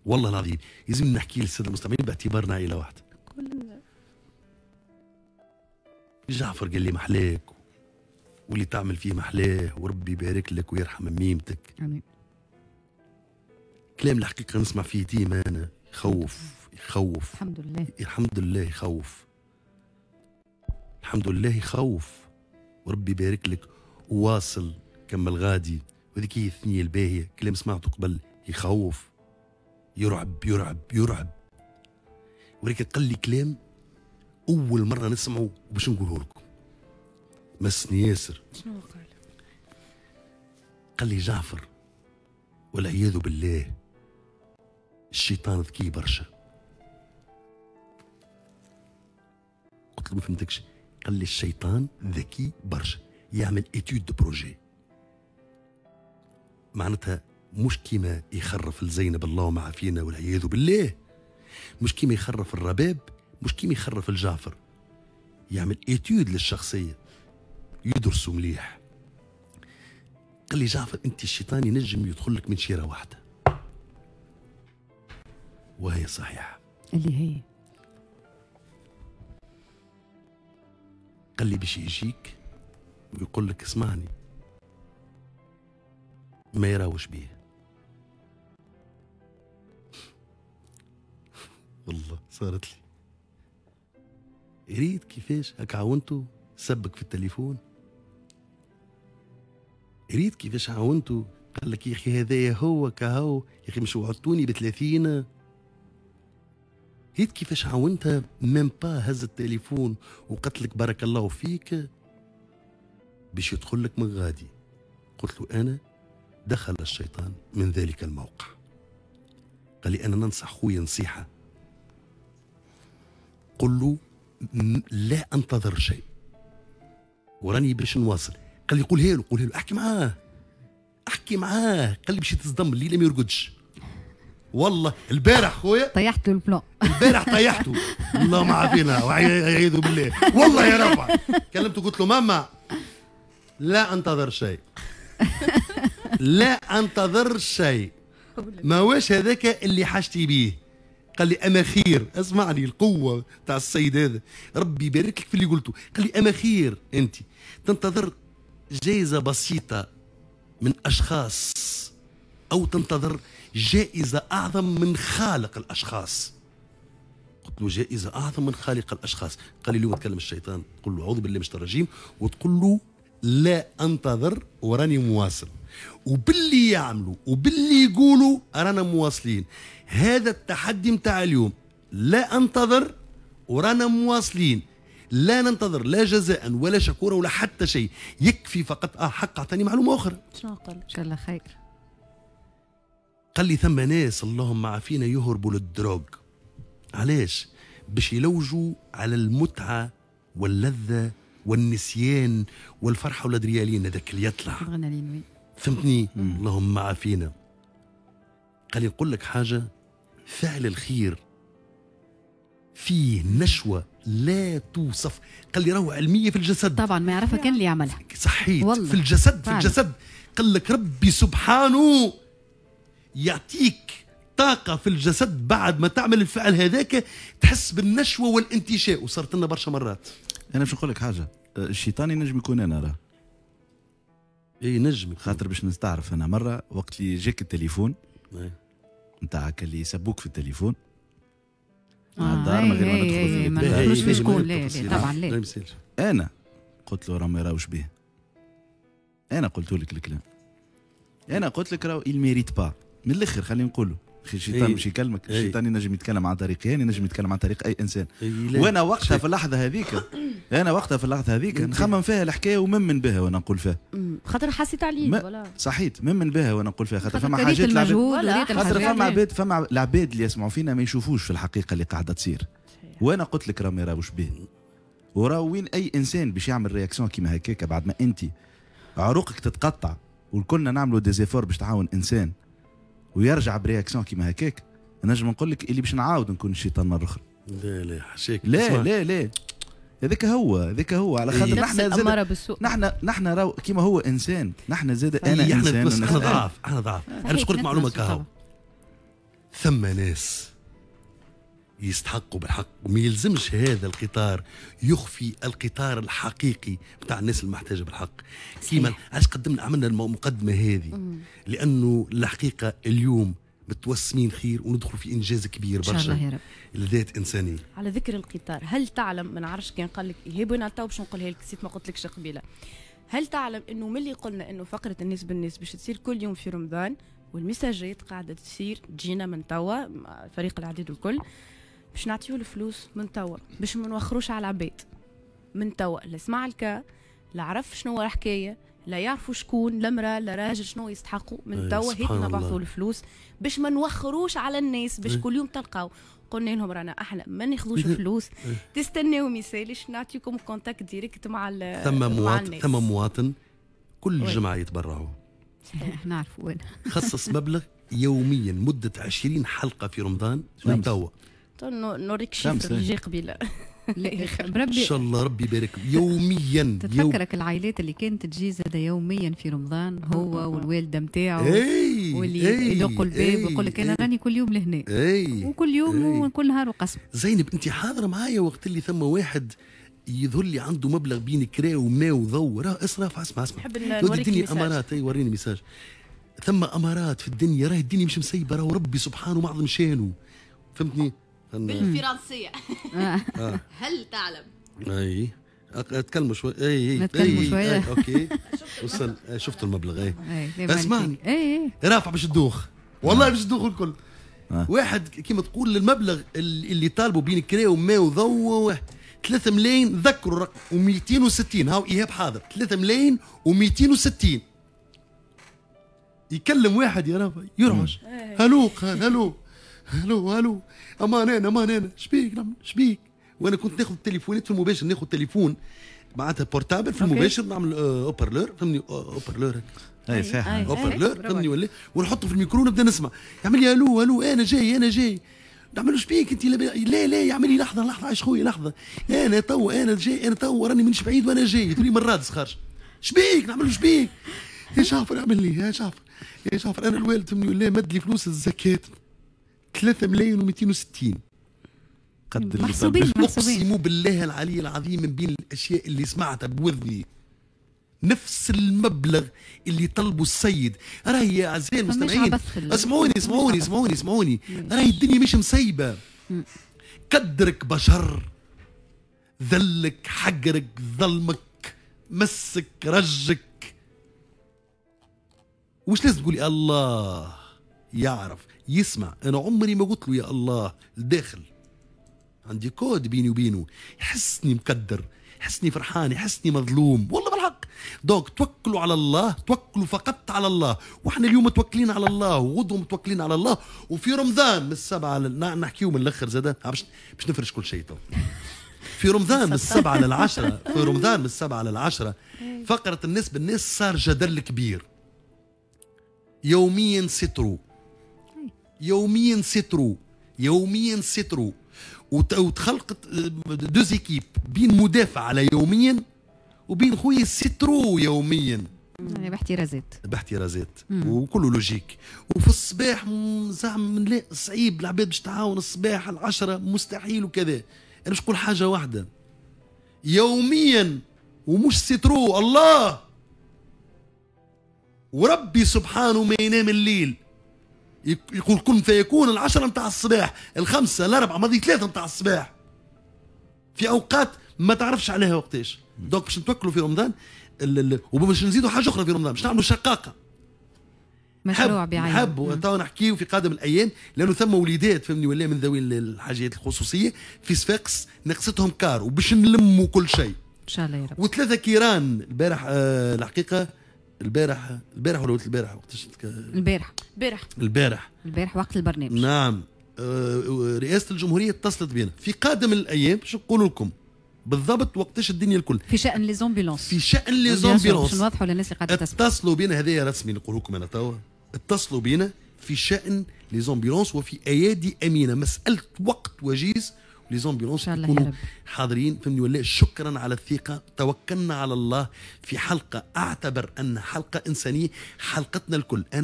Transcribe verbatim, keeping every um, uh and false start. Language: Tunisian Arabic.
والله العظيم لازم نحكي للسادة المستمعين باعتبارنا عائلة واحدة. جعفر قال لي محلاك واللي تعمل فيه محلاه وربي يبارك لك ويرحم ميمتك. امين. كلام الحقيقة نسمع فيه ديما انا يخوف يخوف. الحمد لله الحمد لله يخوف، الحمد لله يخوف، وربي يبارك لك وواصل كمل غادي. وهذيك هي الثنية الباهيه. كلام سمعته قبل يخوف، يرعب يرعب يرعب، ولكن قال لي كلام اول مرة نسمعه وباش نقوله لكم مسني ياسر. شنو قال؟ قال لي جعفر والعياذ بالله الشيطان ذكي برشا. قلت له ما فهمتكش. قال لي الشيطان ذكي برشا، يعمل étude de projet، معناتها مش كيما يخرف الزينب اللهم عافينا والعياذ بالله، مش كيما يخرف الرباب، مش كيما يخرف الجعفر، يعمل étude للشخصية، يدرسوا مليح. قال لي جعفر انت الشيطان ينجم يدخل لك من شيره واحدة، وهي صحيحه اللي هي قال لي باش يجيك ويقول لك اسمعني ما يراوش بيه. والله صارت لي. ريت كيفاش هاك عاونته سبك في التليفون، ريت كيفاش عاونته قال لك يا اخي هذايا هو كهو، يا اخي مش وعدتوني ب ثلاثين. ريت كيفاش عاونتها même pas هز التليفون وقالت لك بارك الله فيك باش يدخل لك من غادي. قلت له انا دخل الشيطان من ذلك الموقع. قال لي انا ننصح خويا نصيحة، قل له لا انتظر شيء وراني باش نواصل. قال لي قولها له قولها له، احكي معاه احكي معاه. قال لي باش يتصدم الليلة ما يرقدش. والله البارح خويا طيحت له ال plan، البارح طيحته اللهم عافينا وعياذ بالله. والله يا ربع كلمته قلت له ماما لا انتظر شيء، لا انتظر شيء، ما واش هذاك اللي حاجتي بيه. قال لي اما خير. اسمعني القوة تاع السيد هذا، ربي يبارك لك في اللي قلته. قال لي اما خير انت تنتظر جائزة بسيطة من اشخاص او تنتظر جائزة اعظم من خالق الاشخاص. قلت له جائزة اعظم من خالق الاشخاص. قال لي اليوم تكلم الشيطان تقول له اعوذ بالله من الشيطان الرجيم وتقول له لا انتظر وراني مواصل، وباللي يعملوا وباللي يقولوا رانا مواصلين. هذا التحدي متاع اليوم، لا انتظر ورانا مواصلين، لا ننتظر لا جزاء ولا شكورا ولا حتى شيء، يكفي فقط. اه حق اعطاني معلومة اخرى. شنو قال؟ ان شاء الله خير. قال لي ثم ناس اللهم عافينا يهربوا لل drogue. علاش؟ باش يلوجوا على المتعة واللذه والنسيان والفرحه والادريالين هذاك اللي يطلع. فهمتني؟ اللهم عافينا. قال لي نقول لك حاجة، فعل الخير فيه نشوه لا توصف. قال لي راهو علمية في الجسد. طبعا ما يعرفها كان اللي يعملها. صحيت والله. في الجسد في الجسد. قال لك ربي سبحانه يعطيك طاقة في الجسد بعد ما تعمل الفعل هذاك، تحس بالنشوه والانتشاء، وصارت لنا برشا مرات. انا باش نقول لك حاجة، الشيطان ينجم يكون انا راه. اي نجم، خاطر باش نستعرف انا مرة وقت اللي جاك التليفون نتاعك اللي يسبوك في التليفون على الدار من غير ما ندخل في ما ندخلوش في شكون، لا لا طبعا لا. انا قلت له راه ما يراوش به. انا قلت لك الكلام، انا قلت لك راهو il mérite pas من الاخر. خلينا نقولوا اخي الشيطان مش يكلمك، الشيطان ينجم يتكلم عن طريقي انا، ينجم يتكلم عن طريق اي انسان. وانا وقتها في اللحظة هذيك، انا وقتها في اللحظة هذيك نخمم فيها الحكاية وممن بها وانا نقول فيها، خاطر حسيت عليه ولا صحيت ممن بها وانا نقول فيها، خاطر فما حاجات العباد، خاطر فما عباد، فما العباد اللي يسمعوا فينا ما يشوفوش في الحقيقة اللي قاعدة تصير. وانا قلت لك راه ما يراوش به، وراه وين اي انسان باش يعمل réaction كيما هكاك بعد ما انت عروقك تتقطع والكلنا نعملوا des efforts باش تعاون انسان ويرجع ب réaction كيما هكاك، نجم نقول لك اللي باش نعاود نكون الشيطان مرة اخرى. لا لا حشاك، لا لا لا، هذاك هو هذاك هو على خاطر نحن زاد نحن نحن راهو كيما هو انسان، نحن زاد انا انسان، احنا ضعاف، احنا ضعاف. انا باش نقول لك معلومة كهو، ثم ناس يستحقوا بالحق، وما يلزمش هذا القطار يخفي القطار الحقيقي بتاع الناس المحتاجه بالحق. كيما علاش قدمنا عملنا المقدمة هذه؟ لانه الحقيقة اليوم متوسمين خير وندخل في انجاز كبير برشا ان شاء الله يا رب لذات انسانيه. على ذكر القطار، هل تعلم، ما نعرفش كان قال لك ايهاب وانا تو باش نقولها لك، نسيت ما قلتلكش قبيلة. هل تعلم انه ملي قلنا انه فقره الناس بالناس باش تصير كل يوم في رمضان، والمساجات قاعدة تصير تجينا من توا فريق العديد الكل باش نعطيو الفلوس من توا باش ما نوخروش على العباد من توا، لا سمع الكا لا عرف شنو الحكاية، لا يعرفوا شكون، لا امراة لا راجل شنو يستحقوا من توا، هيك نبعثوا الفلوس باش ما نوخروش على الناس، باش كل يوم تلقاو. قلنا لهم رانا احنا ما ناخذوش فلوس، تستناو ميسالش نعطيكم contact direct مع ثم مواطن، ثم مواطن كل جمعه يتبرعوا نعرفوا وين خصص مبلغ يوميا مده عشرين حلقة في رمضان من توا. نوريك chiffre اللي جاي قبيلة. بربي ان شاء الله ربي يبارك يوميا. تتفكرك العائلات اللي كانت تجي زاد يوميا في رمضان، هو والوالدة نتاعو واللي يدقوا الباب ويقول لك انا راني كل يوم لهنا، وكل يوم وكل نهار وقسم. زينب انت حاضره معايا وقت اللي ثم واحد يظهر لي عنده مبلغ بين كرا وماء وضوء، راه اصرف. اسمع اسمع، نحب نوريك الدنيا امارات. اي وريني message. ثم امارات في الدنيا، راهي الدنيا مش مسيبه، راهو ربي سبحانه معظم شانه، فهمتني؟ بالفرنسية. آه. هل تعلم؟ اي اتكلموا شوي. اي اي نتكلموا شوية. okay وصل، شفت المبلغ. اي اسمعني، اي رافع باش تدوخ، والله باش تدوخ الكل. آه. واحد كيما تقول المبلغ اللي طالبوا بين كرا وماء وضوء ثلاثة ملايين، ذكروا الرقم ومئتين وستين، هاو ايهاب حاضر، ثلاثة ملايين ومئتين وستين. يكلم واحد يا رافع يرعش، هلو قال هلو هلو هلو، امان انا امان انا، شبيك شبيك. وانا كنت ناخذ التليفونات في المباشر، ناخذ تليفون معناتها portable في المباشر، نعمل haut-parleur، فهمني، haut-parleur اي صح، haut-parleur فهمني ولا، ونحطه في الميكرو ونبدا نسمع. يعمل لي الو الو، انا جاي انا جاي. نعمل له شبيك انت؟ لا لا، يعمل لي لحظة لحظة عايش خويا لحظة، انا تو انا جاي، انا تو راني مانيش بعيد وانا جاي. تقول لي من رادس خارج، شبيك؟ نعمل له شبيك يا جعفر؟ اعمل لي يا جعفر يا جعفر، انا الوالد فهمني ولا مد لي فلوس الزكاة ثلاثة ملايين ومئتين وستين. قد محسوبين محسوبين. اقسم بالله العلي العظيم من بين الاشياء اللي سمعتها بوذني نفس المبلغ اللي طلبوا السيد. راهي يا اعزائي المستمعين اسمعوني اسمعوني اسمعوني اسمعوني، راهي الدنيا مش مسيبه. قدرك بشر، ذلك حقرك ظلمك مسك رجك، وش لازم تقولي؟ الله يعرف يسمع. انا عمري ما قلت له يا الله الداخل، عندي كود بيني وبينه، يحسني مقدر، يحسني فرحان، يحسني مظلوم، والله بالحق. donc توكلوا على الله، توكلوا فقط على الله. واحنا اليوم متوكلين على الله، وغدوه متوكلين على الله، وفي رمضان من السبعة لل... نحكيو من الاخر زاده باش باش نفرش كل شيء تو. في رمضان من السبعة للعشرة، في رمضان من السبعة للعشرة فقره الناس بالناس صار جدل كبير. يوميا c'est trop، يوميا c'est trop، يوميا c'est trop، وتخلقت deux équipes بين مدافع على يوميا وبين خويا c'est trop يوميا، يعني باحترازات باحترازات وكله logique. وفي الصباح زعما لا صعيب العباد باش تعاون الصباح العشرة مستحيل وكذا. انا باش نقول حاجة واحدة، يوميا ومش c'est trop، الله وربي سبحانه ما ينام الليل، يقول كن فيكون. العشرة متاع الصباح، الخمسة، الأربعة، ماضي ثلاثة متاع الصباح، في أوقات ما تعرفش عليها وقتاش. donc باش نتوكلوا في رمضان، وباش نزيدوا حاجة أخرى في رمضان، باش نعملوا شقاقة، مشروع بعينه نحبوا تو نحكيو في قادم الأيام، لأنه ثم وليدات فهمني ولا من ذوي الحاجات الخصوصية في صفاقس نقصتهم car، وباش نلموا كل شيء إن شاء الله يا رب. وثلاثة كيران البارح، آه الحقيقة البارح البارح ولا البارح وقتاش؟ البارح البارح البارح البارح وقت البرنامج. نعم، آه رئاسة الجمهورية اتصلت بنا في قادم الأيام باش نقول لكم بالضبط وقتاش الدنيا الكل في شأن les ambulances، في شأن les ambulances باش نوضحوا للناس اللي قاعدة تسمع. اتصلوا بنا، هذايا رسمي نقول لكم أنا توا، اتصلوا بنا في شأن les ambulances وفي أيادي أمينة، مسألة وقت وجيز les ambulances يكونوا حاضرين فهمني ولا. شكرا على الثقة، توكلنا على الله في حلقة اعتبر ان حلقة انسانيه، حلقتنا الكل. انا